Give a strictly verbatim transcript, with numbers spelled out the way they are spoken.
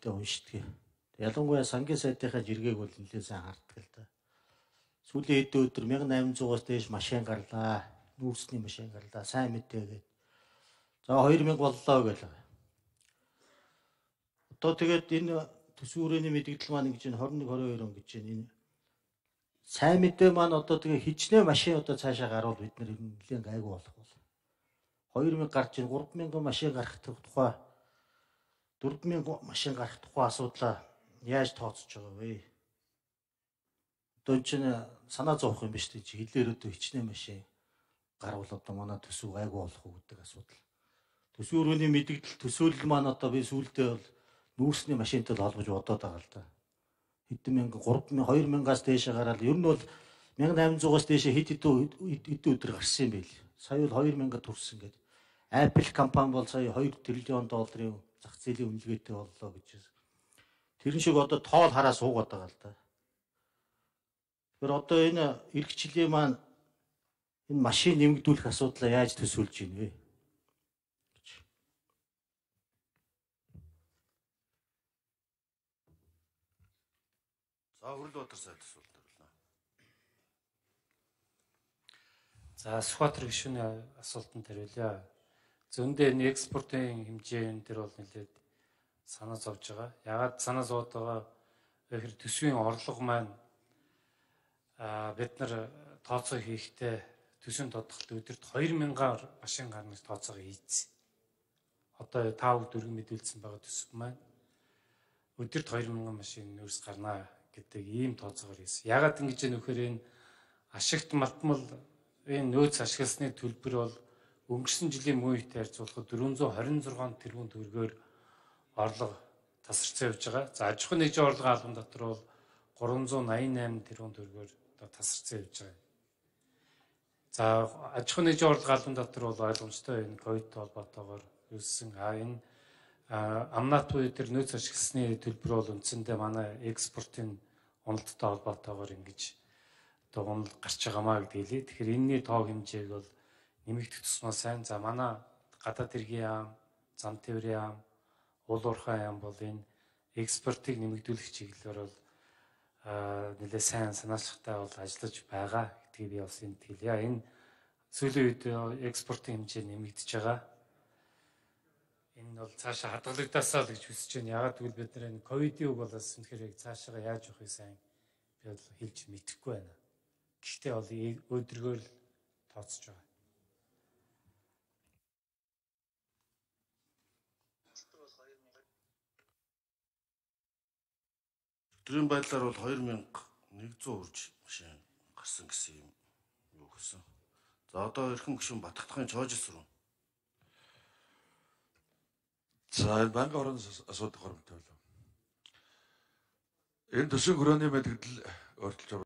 ихтэй уншдаг. Ялангуяа сангийн сайтынхаа жиргээг бол нэлээд сайн харддаг л да. Сүүлийн хэд өдөр мянга и намын зуугаас дээш машин гарлаа. Нүүрсний машин гарлаа. Сайн мэдээ гээд. За хоёр мянга боллоо гэх. Одоо тэгээд энэ төсвөрийн мэдээлэл маань гэж энэ двадцать одиннадцать двадцать deux он гэж энэ сайн мэдээ маань одоо тэгээ хичнээн машин одоо цаашаа гарвал бид нар нэлээд гайгүй болох бол. хоёр мянга гарч ийн гурван мянган машин гарах тухай дөрвөн мянган машин гарах тухай асуудлаа яаж тооцож байгаа вэ? Одоо чинь санаа зовох юм биш үү? Хилээр өдөө хичнээн машин гарвал одоо манай төсөв гайгүй болох уу гэдэг асуудал. Төсвөрийн мэдээлэл төсөөлөл маань одоо би сүүлдээ бол нүүрсний машинтай холбож бодоод байгаа л да. Хэдэн мянган гурван мянган хоёр мянгаас дээшээ гараад ер нь бол мянга и намын зуугаас дээшээ хэд хэдэн өдөр гарсан юм бэ? Сая бол хоёр мянга төрсөн гэдэг. Apple компани бол сая хоёр триллион долларын зах зээлийн үнэлгээтэй боллоо гэж. Тэр шиг одоо тоол хараа суугаад байгаа л да. Тэр одоо энэ эх жилийн маань энэ машин нэмэгдүүлэх асуудлаа яаж төсөөлж ийн вэ? За Хүрлбаатар сайд асуулт байна. За Сүхбаатар гишүүний асуултанд хариулъя. Зөндөө энэ экспортын хэмжээ дээр бол нэлээд санаа зовж байгаа. Ягаад санаа зовж байгаа гэхээр төсвийн орлого маань а бид нар тооцоо хийхдээ төсвийн тодголт өдөрт хоёр мянган машин гарна гэж тооцоогоо хийсэн. Одоо тав дөрвөн мэдүүлсэн байгаа төсөв маань өдөрт хоёр мянган машин нөөц гарна гэдэг ийм тооцоогоор хийсэн. Ягаад ингэж юм нөхөр энэ ашигт малтмал энэ нөөц ашигласны төлбөр бол өнгөрсөн жилийн мөн үетэй харьцуулахад дөрвөн зуун хорин зургаан тэрбум төгрөгөөр орлого тасарсан явж байгаа. За аж ахуйн нэгжийн орлогын албан дотор бол гурван зуун найман найман тэрбум төгрөгөөр одоо тасарсан явж байгаа. За аж ахуйн нэгжийн орлогын албан дотор бол ойлгомжтой энэ ковидтой холбоотойгоор үүссэн а энэ амнат буюу тэр нөөц ашигласны төлбөр бол үндсэндээ манай экспортын уналттай холбоотойгоор ингэж одоо унал гарч байгаамаа гэдэг хэлээ. Тэгэхээр энэний тоо хэмжээг бол нэмэгдэх тусмаа сайн. За манай гадаад хэргийн яам, зам тээврийн яам, уул уурхай яам бол энэ экспортыг нэмэгдүүлэх чиглэлээр бол нэлээд сайн санаачлагтай бол ажиллаж байгаа гэдгийг би бас энд хэлье. Энэ сүүлийн үед экспортын хэмжээ нэмэгдэж байгаа. Энэ бол цаашаа хадгалагдасаа л гэж хүсэж байна. Ягаад гэвэл бид нар энэ ковидын үг болоос үнэхээр цаашаа яаж явахыг сайн би бол хэлж мэдэхгүй байна. Гэхдээ бол өдрөгөө л тооцож байгаа. Өдрийн байдлаар бол хоёр мянга нэгдүгээр урж машин гарсан гэсэн юм юу гэсэн. За одоо эрхэм гишүүн Батхдахын Чоожис руу. За банк орон асуудал хормтой болов. Энэ төсвийн хүрээний мэдээлэл өөрчилж